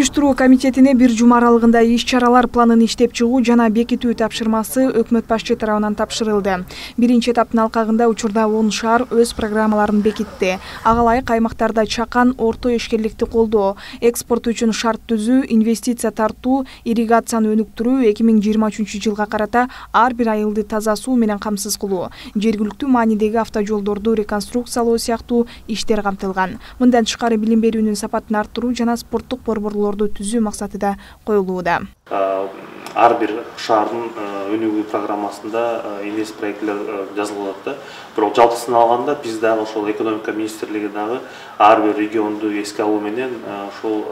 Уюштуруу комитетине бир жума аралыгында иш-чаралар планын иштеп чыгуу жана бекитүү тапшырмасы өкмөт башчы тарабынан тапшырылды. Биринчи этаптын алкагында учурда 10 шаар өз программаларын бекитти. Ага ылайык аймактарда чакан, орто ишкерликти колдоо, экспорт үчүн шарт түзүү, инвестиция тартуу, ирригацияны өнүктүрүү, 2023-жылга карата ар бир айылды таза суу менен камсыз кылуу, жергиликтүү маанидеги автожолдорду реконструкциялоо сыяктуу иштер камтылган. Мындан тышкары билим берүүнүн сапатын арттыруу жана спорттук борборлорду түзүү максатыда коюлууда. Ар бир шаардын өнүгүү программасында инвест проекттер жазылып атат. Бирок жалпысын алганда биз дагы ошол экономика министрлиги дагы ар бир регионду эске алуу менен ошол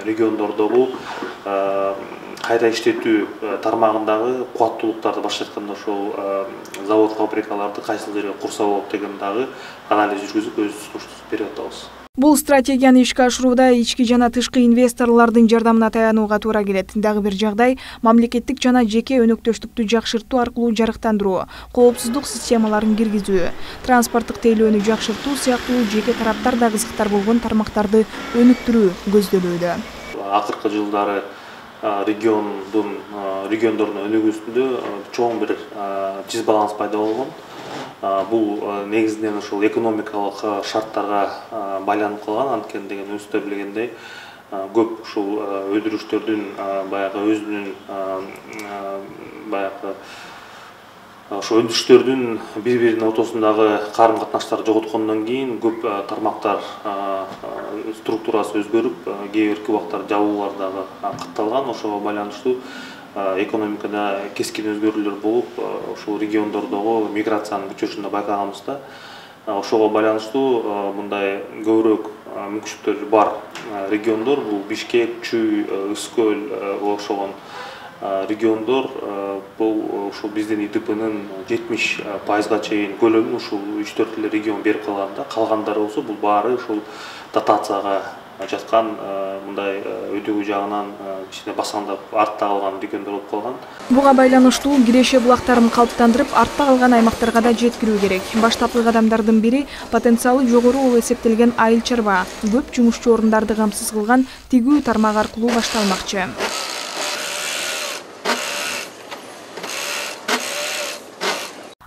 региондордогу кайра иштетүү тармагындагы кубаттуулуктарды башкы айтканда ошол завод фабрикаларды кайсыл жерге курса болот деген дагы анализ жүргүзүп өз сунуштубузду берип атабыз. Бул стратегияны ишке ашырууда ички жана тышкы инвесторлордун жардамына таянууга туура келет. Дагы бир жагдай мамлекеттик жана жеке өнөктөштүктү жакшыртуу аркылуу жарыктандыруу, коопсуздук системаларын киргизүү, транспорттук тейлөөнү жакшыртуу сыяктуу жеке тараптарда кызыктар болгон тармактарды өнүктүрүү көздөлүүдө. Акыркы жылдары региондордун өнүгүүсүндө чоң бир дисбаланс пайда болгон. Бул негизинен ошол экономикалык шарттарга байланып калган. Анткени деген өзүңүздөр билгендей, көп ушул өндүрүштөрдүн баягы өзүнүн баягы ошо өндүрүштөрдүн бири-биринин ортосундагы карым-катнаштарды жоготкондон кийин көп тармактар структурасы өзгөрүп, кээ бирки убактар жабуулар дагы катталган. Ошого байланыштуу экономикада кескин өзгөрүүлөр болуп, ошол региондордогу миграциянын күчөшүн байкаганбыз да. Ошого байланыштуу мындай көбүрөөк мүмкүнчүлүктөрү бар региондор бул Бишкек, Чүй, Ысык-Көл окшогон региондор. Бул ушул биздин ИДПнын 70% чейин көлөмүн ушул 3-4 эле регион берип калган да. Калгандары болсо бул баары ушул дотацияга жаткан, мындай өтөгүү жагынан кичине басаңдап артта калган региондор болуп калган. Буга байланыштуу киреше булактарын калыптандырып, артта калган аймактарга да жеткирүү керек. Баштапкы кадамдардын бири потенциалы жогору болуп эсептелген Айыл Чарба, көп жумушчу орундарды камсыз кылган тигүү тармак аркылуу башталмакчы.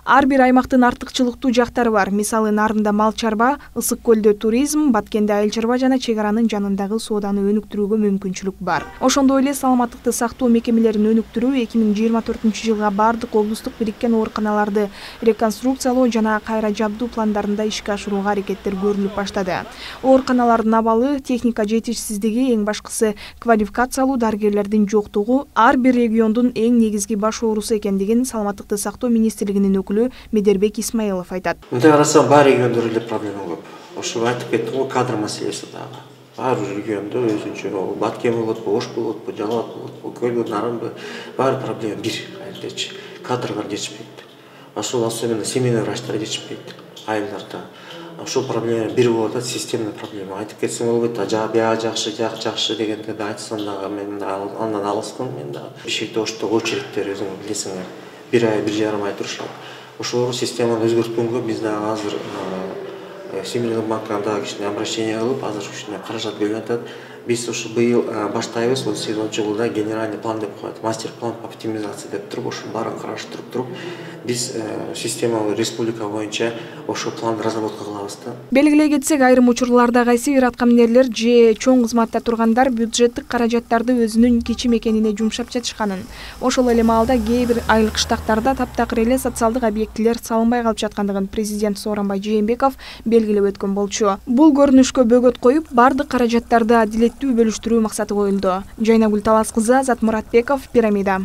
Ар бир аймактын артыкчылыктуу жактары бар. Мисалы, Нарында мал чарба, Ысык-Көлдө туризм, Баткенде айыл чарба жана чек аранын жанындагы сооданы өнүктүрүүгө мүмкүнчүлүк бар. Ошондой эле саламаттыкты сактоо мекемелерин өнүктүрүү 2024-жылга бардык облустук бириккен ооруканаларды реконструкциялоо жана кайра жабдуу пландарында ишке ашырууга аракеттер көрүлүп баштады. Ооруканалардын абалы, техника жетишсиздиги, эң башкысы квалификациялуу дарыгерлердин жоктугу ар бир региондун эң негизги баш оорусу экендигин Саламаттыкты сактоо министрлигинин Медербек Исмаилов айтат. Мындай карасаң, бар региондор эле проблема көп. Ошо айтып кеттим го, кадр маселеси дагы. Бар региондо өзүнчө Баткен болот, Ош болот, Жалал болот, Көл, Нарында бар проблема бир айылдачы. Кадрлар жетишпейт. Ошол особенно семейный врачтар жетишпейт айылдарда. Ошол проблема бир болуп атат, системный проблема. Айтып кетсең болбойт, бияга жакшы дегенде да айтсам дагы мен андан алыспын. Мен дагы Бишкекте, Ошто очередтер өзүң билесиңер. 1 ай, 1,5 ай турушат. Ошол системаны өзгөрткөнгө биз дагы азыр Всемирный банкка дагы кичине обращение кылып, азыр кичине каражат бөлүнүп атат. Биз ушу быйыл баштайбыз, 18-жылда генеральный план деп коет, мастер-план по оптимизации деп туруп, ошо баарын караштырып туруп, биз системалуу республика боюнча ошол планды разработка кылабыз да. Белгилей кетсек, айрым учурларда кайсы бир аткаминерлер же чоң кызматта тургандар бюджеттик каражаттарды өзүнүн кичим экенине жумшап жатышканын. Ошол эле маалда кээ бир айыл кыштактарда таптакыр эле социалдык объектилер салынбай калып жаткандыгын президент Сооронбай Жээнбеков белгилеп өткөн болчу. Бул көрүнүшкө бөгөт коюп, бардык каражаттарды адилеттүү бөлүштүрүү максаты коюлду. Жайнагүл Талас кызы, Азат Муратбеков, Пирамида.